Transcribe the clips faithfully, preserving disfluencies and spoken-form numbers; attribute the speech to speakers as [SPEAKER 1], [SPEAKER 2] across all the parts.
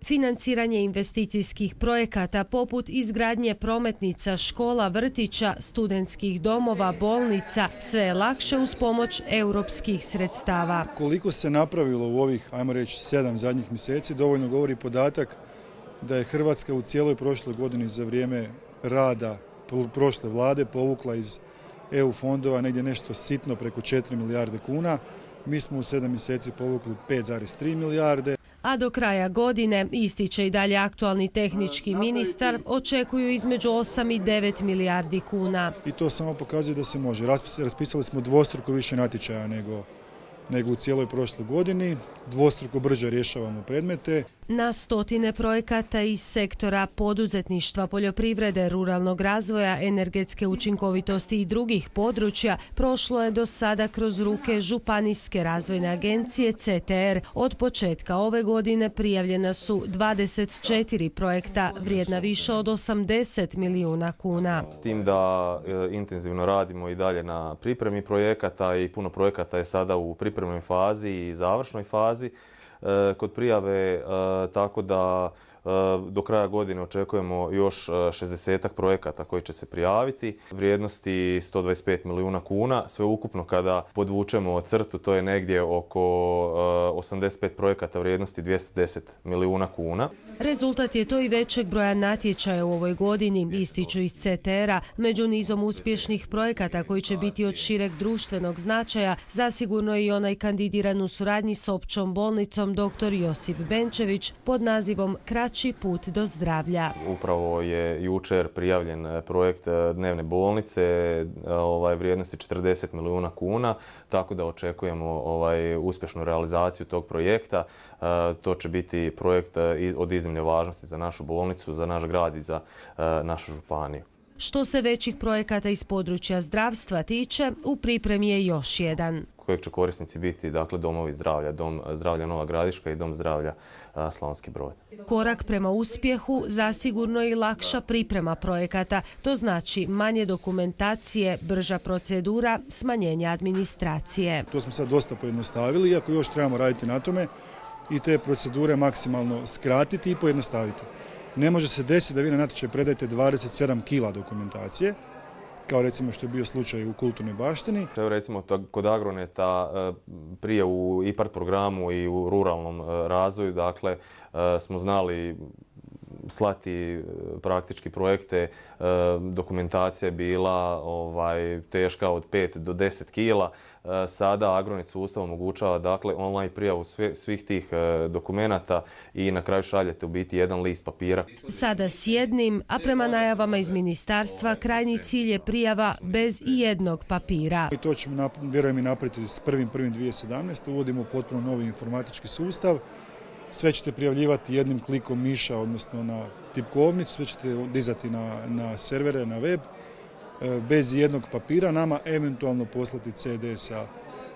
[SPEAKER 1] Financiranje investicijskih projekata poput izgradnje prometnica, škola, vrtića, studentskih domova, bolnica, sve je lakše uz pomoć europskih sredstava.
[SPEAKER 2] Koliko se napravilo u ovih, ajmo reći, sedam zadnjih mjeseci, dovoljno govori podatak da je Hrvatska u cijeloj prošloj godini za vrijeme rada prošle vlade povukla iz E U fondova negdje nešto sitno preko četiri milijarde kuna. Mi smo u sedam mjeseci povukli pet zarez tri milijarde.
[SPEAKER 1] A do kraja godine, ističe i dalje aktualni tehnički ministar, očekuju između osam i devet milijardi kuna.
[SPEAKER 2] I to samo pokazuje da se može. Raspisali smo dvostruko više natječaja nego, nego u cijeloj prošloj godini. Dvostruko brže rješavamo predmete.
[SPEAKER 1] Na stotine projekata iz sektora poduzetništva, poljoprivrede, ruralnog razvoja, energetske učinkovitosti i drugih područja prošlo je do sada kroz ruke Županijske razvojne agencije C T R. Od početka ove godine prijavljena su dvadeset četiri projekta vrijedna više od osamdeset milijuna kuna.
[SPEAKER 3] S tim da e, intenzivno radimo i dalje na pripremi projekata i puno projekata je sada u pripremnoj fazi i završnoj fazi kod prijave, tako da do kraja godine očekujemo još šezdesetak projekata koji će se prijaviti. Vrijednosti sto dvadeset pet milijuna kuna, sve ukupno kada podvučemo crtu to je negdje oko osamdeset pet projekata vrijednosti dvjesto deset milijuna kuna.
[SPEAKER 1] Rezultat je to i većeg broja natječaja u ovoj godini, ističu iz C T R-a. Među nizom uspješnih projekata koji će biti od šireg društvenog značaja, zasigurno je i onaj kandidiran u suradnji s Općom bolnicom doktor Josip Benčević pod nazivom Kraći put do zdravlja.
[SPEAKER 3] Upravo je jučer prijavljen projekt dnevne bolnice ovaj, vrijednosti četrdeset milijuna kuna, tako da očekujemo ovaj, uspješnu realizaciju tog projekta. To će biti projekt od iznimne važnosti za našu bolnicu, za naš grad i za našu županiju.
[SPEAKER 1] Što se većih projekata iz područja zdravstva tiče, u pripremi je još jedan.
[SPEAKER 3] Kojeg će korisnici biti, dakle, domovi zdravlja, Dom zdravlja Nova Gradiška i Dom zdravlja Slavonski Brod.
[SPEAKER 1] Korak prema uspjehu zasigurno je i lakša priprema projekata. To znači manje dokumentacije, brža procedura, smanjenje administracije.
[SPEAKER 2] To smo sad dosta pojednostavili, iako još trebamo raditi na tome i te procedure maksimalno skratiti i pojednostaviti. Ne može se desiti da vi na natječaj predajete dvadeset sedam kila dokumentacije, kao recimo što je bio slučaj u kulturnoj baštini.
[SPEAKER 3] Evo recimo kod Agroneta prije u I P A R D programu i u ruralnom razvoju, dakle, smo znali slati praktički projekte, dokumentacija je bila ovaj, teška od pet do deset kila. Sada Agronet sustav omogućava, dakle, online prijavu svih tih dokumenata i na kraju šaljete u biti jedan list papira.
[SPEAKER 1] Sada s jednim, a prema najavama iz ministarstva krajnji cilj je prijava bez i jednog papira.
[SPEAKER 2] I to ćemo, vjerujem, i napraviti s prvim prvim dvije tisuće sedamnaeste. Uvodimo potpuno novi informatički sustav. Sve ćete prijavljivati jednim klikom miša, odnosno na tipkovnicu, sve ćete dizati na, na servere, na web, bez jednog papira, nama eventualno poslati C D sa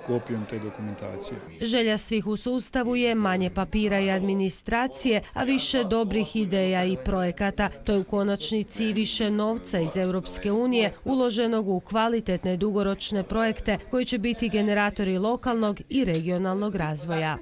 [SPEAKER 2] kopijom te dokumentacije.
[SPEAKER 1] Želja svih u sustavu je manje papira i administracije, a više dobrih ideja i projekata. To je u konačnici i više novca iz Europske unije uloženog u kvalitetne dugoročne projekte koji će biti generatori lokalnog i regionalnog razvoja.